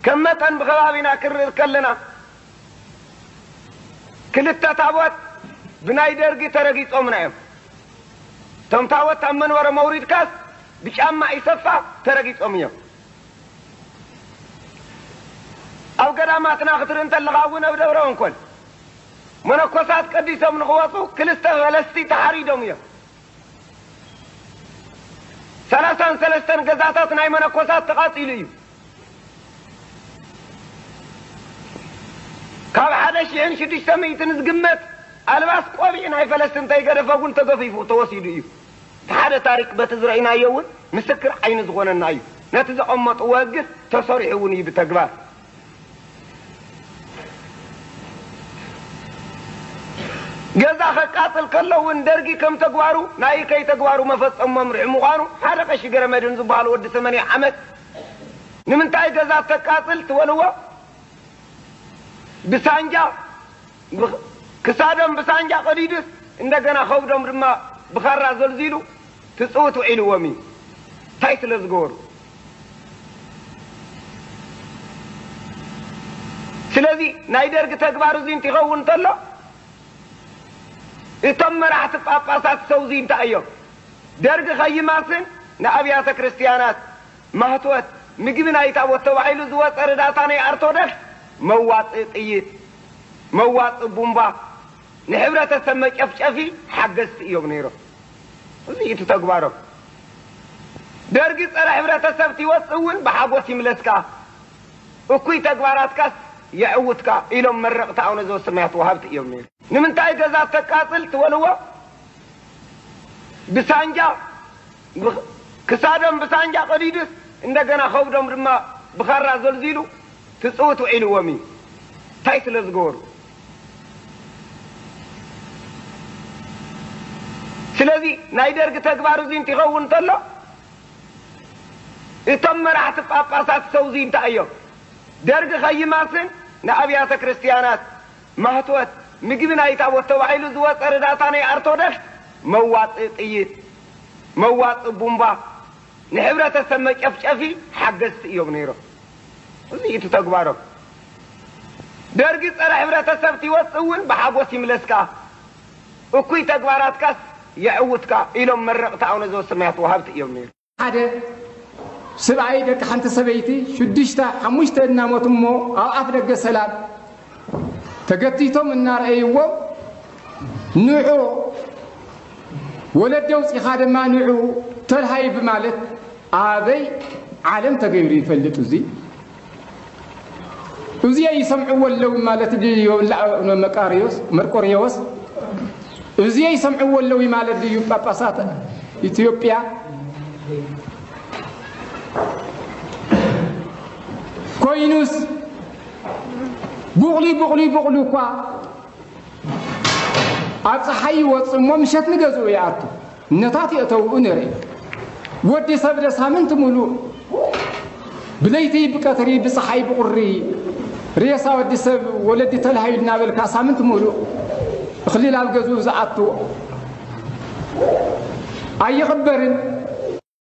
ከም መጠን ብኸባቢና ክንርኢ ከለና፣ ክልተ ታቦት ብናይ ደርጊ ተረጊጾምና እዮም። እቶም ታቦት ኣብ መንበሮም ኣውሪድካስ ብጫማ ኢሰፋ ተረጊጾም እዮም። ኣብ ገዳማትና ክትርኢ እንተለኻ እውን ኣብ ደብረ እንኮል መነኮሳት ቀዲሶም ንኽወፁ ክልተ ፈለስቲ ተሓሪዶም እዮም። ሰላሳን ሰለስተን ገዛታት ናይ መነኮሳት ተቓጺሉ እዩ። ካብ ሓደ ሽሕን ሽዱሽተ ሚእትን ዝግመት ኣልባስ ቆቢዕ ናይ ፈለስቲ እንተይገደፈ እውን ተገፊፉ ተወሲዱ እዩ። እቲ ሓደ ታሪክ በቲ ዝረእናዮ እውን ምስክር ዓይኒ ዝኾነና እዩ። ነቲ ዘቐመጥዎ ህግስ ተሰሪሑ እውን እዩ ብተግባር። ገዛ ከቃጽል ከሎ እውን ደርጊ ከም ተግባሩ ናይ ከይ ተግባሩ መፈጸሚ መምርሒ ምዃኑ ሓደ ቀሺ ገረመድህን ዝበሃሉ ወዲ ሰማንያ ዓመት ንምንታይ ገዛ ተቃጽል ትበልዎ? ብሳንጃ ብኽ-፣ ክሳዶም ብሳንጃ ቀዲዱስ እንደገና ከብዶም ድማ ብኻራ ዘልዚሉ ትጽውት ውዒልዎም እዩ። እንታይ ስለ ዝገበሩ? ስለዚ ናይ ደርጊ ተግባር እዚ እንትኸውን እንተሎ እቶም መራሕቲ ጳጳሳት ሰውዚ እንታይ እዮም? ደርጊ ከይማስን ንኣብያተ ክርስቲያናት ማህትወት ምግቢ ናይ ታቦት ተባሂሉ ዝወፀ ርዳታ ናይ ኣርቶዶክስ መዋፅኢ ጥይት፣ መዋፅኢ ቡምባ፣ ንሕብረተሰብ መጨፍጨፊ ሓገዝቲ እዮም ነይሮም። እዚ እቲ ተግባሮም። ደርጊ ፀረ ሕብረተሰብ ትወፅእ እውን ብሓጎስ ይምለስካ፣ እኩይ ተግባራትካስ የዕውትካ ኢሎም መረቕቲ ኣቡነ ዘበሰማያት ወሃብቲ እዮም ነይሮም። ንምንታይ ገዛ ተቃጽል ትበልዎ? ብሳንጃ ብኽ-፣ ክሳዶም ብሳንጃ ቀዲዱስ እንደገና ከብዶም ድማ ብኻራ ዘልዚሉ ትጽውት ውዒልዎም እዩ። እንታይ ስለ ዝገበሩ? ስለዚ ናይ ደርጊ ተግባር እዚ እንትኸውን እንተሎ እቶም መራሕቲ ጳጳሳት ሰውዚ እንታይ እዮም? ደርጊ ከይማስን ንኣብያተ ክርስቲያናት ማህትወት ምግቢ ናይ ታቦት ተባሂሉ ዝወፀ ርዳታ ናይ ኣርቶዶክስ መዋፅኢ ጥይት፣ መዋፅኢ ቡምባ፣ ንሕብረተሰብ መጨፍጨፊ ሓገዝቲ እዮም ነይሮም። እዚ እቲ ተግባሮም። ደርጊ ፀረ ሕብረተሰብ ትወፅእ እውን ብሓጎስ ይምለስካ፣ እኩይ ተግባራትካስ የዕውትካ ኢሎም መረቕቲ ኣቡነ ዘበሰማያት ወሃብቲ እዮም ነይሮም። ሓደ ስብኣይ ደቂ ሓንቲ ሰበይቲ ሽዱሽተ ሓሙሽተ እናሞቱ እሞ ኣብ ኣፍ ደገ ሰላም ተገቲቶም እናረኣይዎም ንዑ ወለዲ ኣውፂኻ ድማ ንዑ ተልሃዩ ብማለት ኣበይ ዓለም ተገይሩ ይፈልጥ? እዚ እዚኣ ይሰምዕዎ ኣለዉ ማለት ድዩ? መቃርዮስ መርቆርዮስ እዚኣ ይሰምዕዎ ኣለዉ ማለት ድዩ? ጳጳሳት ኢትዮጵያ ኮይኑስ ቡቕሊ ቡቕሊ ቡቕሊ እኳ ኣብ ፀሓይ ይወፅእ እሞ ምሸት ንገዝኡ ይኣቱ። ነታት የእተውኡ ንርኢ። ወዲ ሰብ ደ ሳምንት ሙሉእ ብለይቲ ብቀትሪ ብፀሓይ ብቁሪ ሬሳ ወዲ ሰብ ወለዲ ተላሃዩ እናበልካ ሳምንት ሙሉእ እኽሊ ናብ ገዝኡ ዝኣቱ ኣይቕበርን።